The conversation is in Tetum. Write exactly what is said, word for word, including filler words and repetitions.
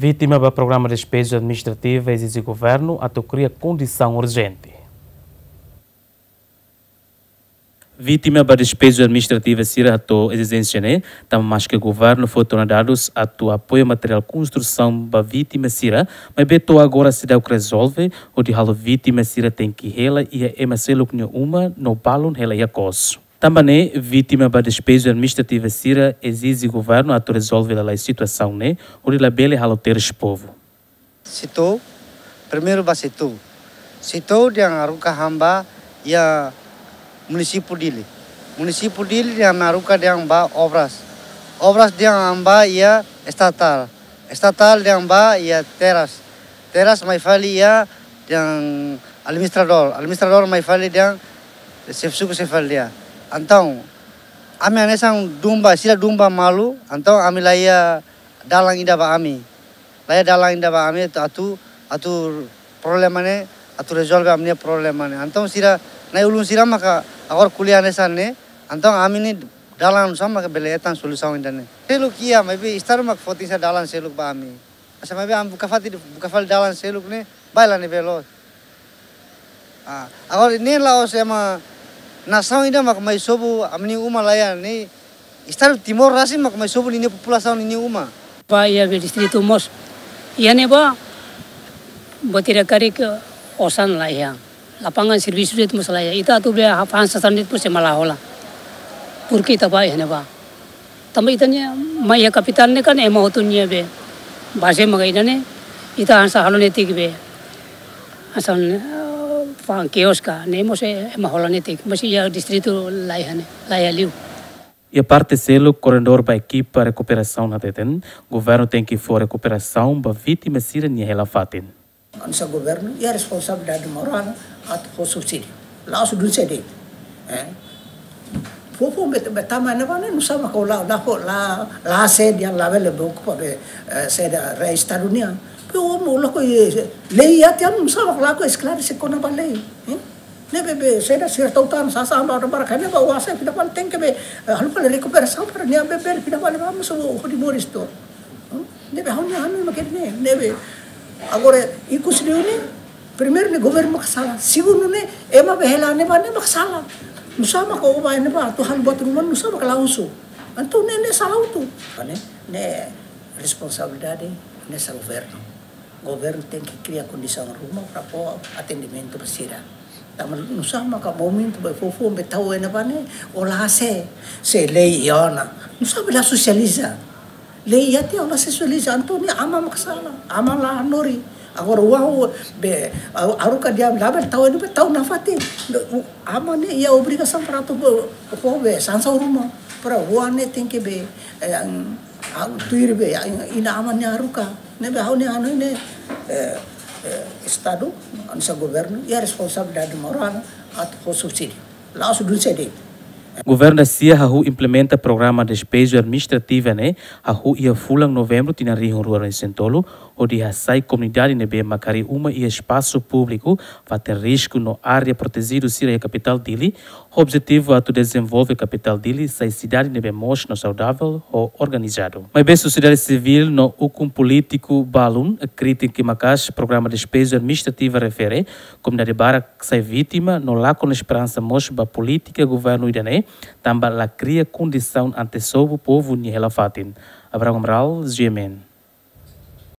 Vítima ba programa despeju administrativa ezije governu atu kria kondisaun urjente. Vítima ba despeju administrativa sira hato'o ezijénsia ne'e, tanba maske governu fó tona dadus atu apoia materiál konstrusaun ba vítima sira, maibé to'o agora seidauk rezolve, hodi halo vítima sira tenke hela iha ema seluk nia uma no balun hela iha kos. Tanba ne'e, vítima ba despeju administrativa sira ezije governu atu rezolve lalais situasaun ne'e, hodi labele halo terus povu. Setor, primeiru ba setor. Setor dehan haruka han ba iha munisípiu Dili. Munisípiu Dili dehan haruka dehan ba obras. Obras dehan han ba iha estatal. Estatal dehan ba iha terras. Terras mai fali iha dehan administradór. Administradór mai fali dehan xefe suku sei fali dehan. Entaun, ami hanesan dun ba, sira dun ba malu, entaun ami la iha dalan ida ba ami. La iha dalan ida ba ami atu, atu, atu problema ne'e, atu rezolve ami-nia problema ne'e. Entaun sira, na'i-ulun sira maka agora ko'alia hanesan ne'e, entaun ami-nia dalan oinsá maka bele hetan solusaun ida-ne'e. Seluk iha, maibé Estadu maka foti sá dalan seluk ba ami. Asa maibé ami buka fali, buka fali dalan seluk ne'e, baila ne'ebé loos. Ah, agora ne'e la'ós ema nasaun ida mak mai sobu ami-nia uma la iha ne'e. Estadu Timor rasik mak mai sobu ninia populasaun ninia uma. Ba iha be distritu mós. Iha ne'ebá, buat ida karik osan la iha. Lapangan servisu de'it mós la iha. Ita atu be fa'an sasán de'it mós ema la hola. Porke ita ba iha ne'ebá. Tanba ita-nia mai iha kapitál ne'e kan ema hotu nia be baze maka ida-ne'e, ita hanesan halo netik be. Hanesan, eh, fa'an kios ka, ne'e mós ema hola netik. Mós iha distritu la iha ne'e, la iha liu. Iha parte seluk, koordenadór ba ekipa rekuperasaun hateten, governu tenke fó rekuperasaun ba vítima sira-nia hela-fatin. Hanesan governu, iha responsabilidade morál atu fó subsídiu. La'ós dun sé de'it. Eh? Fó, fó, be, be tama ne'ebá ne'e, nusá mak la, la, la, la sé dehan labele be okupa be, eh, sé da rei Estadu nian. Pe o mo loko, eh, lei iha tiha, nusá mak la ko esklarese kona-ba lei. Eh? Ne'ebé be, sé da sira tau tan, sasán ba, ba, ba, kanek ba, oan sira fila fali tenke be, eh, halo fali rekuperasaun para nia be, be, fila fali ba, mós o, o di moris to. Hmm? Ne'ebé ha'u-nia hanoin mak ne'e, ne'ebé. Agora, ikus liu ne'e, primeiru ne'e governu mak sala. Segundu ne'e, ema be hela ne'ebá ne'e mak sala. Nusá mak o ba ne'ebá, atu halo buat ruma, nusá mak la husu. Entaun ne'e, ne'e sala hotu. Ne'e, ne'e responsabilidade, ne'e sala governu. Governu tenke kria kondisaun ruma para fó atendimentu ba sira. Tanba nusá maka momentu be foufoun be tau iha ne'ebá ne'e, o la sé, se lei iha ona. Nusá be la sosializa. Lei iha tiha o la sosializa, entaun ne'e aman mak sala, aman la hanorin. Agora oan be, a-, haruka dehan labele tau iha ne'ebá, tau nafatin. Be, u-, aman ne'e iha obrigasaun para atu be, fó be, sansaun ruma. Para oan ne'e tenke be, eh, an-, an-, tuir be, an-, inan-aman nia haruka. Ne'ebé ha'u-nia hanoin ne'e, eh, eh, Estadu, hanesan governu, iha responsabilidade morál atu fó subsídiu. La'ós dun sé de'it. Governu da sia hahú implementa programa despeju administrativa ne'e, hahú iha fulan Novembru tinan rihun rua resin-tolu, hodi hasai komunidade ne'ebé mak harii uma iha espasu públiku, fatin risku no área protejidu sira iha kapitál Dili, objetivu atu dezenvolve kapitál Dili sai sidade ne'ebé moos no saudavel ho organizadu. Maibé sosiedade sivíl no ukun polítiku balun kritika maka'as programa despeju administrativa refere, komunidade barak sai vítima no lakon esperansa mós ba polítika governu ida-ne'e, tanba la kria kondisaun ante sobu povu nia hela-fatin. Abraham Amaral, G M N.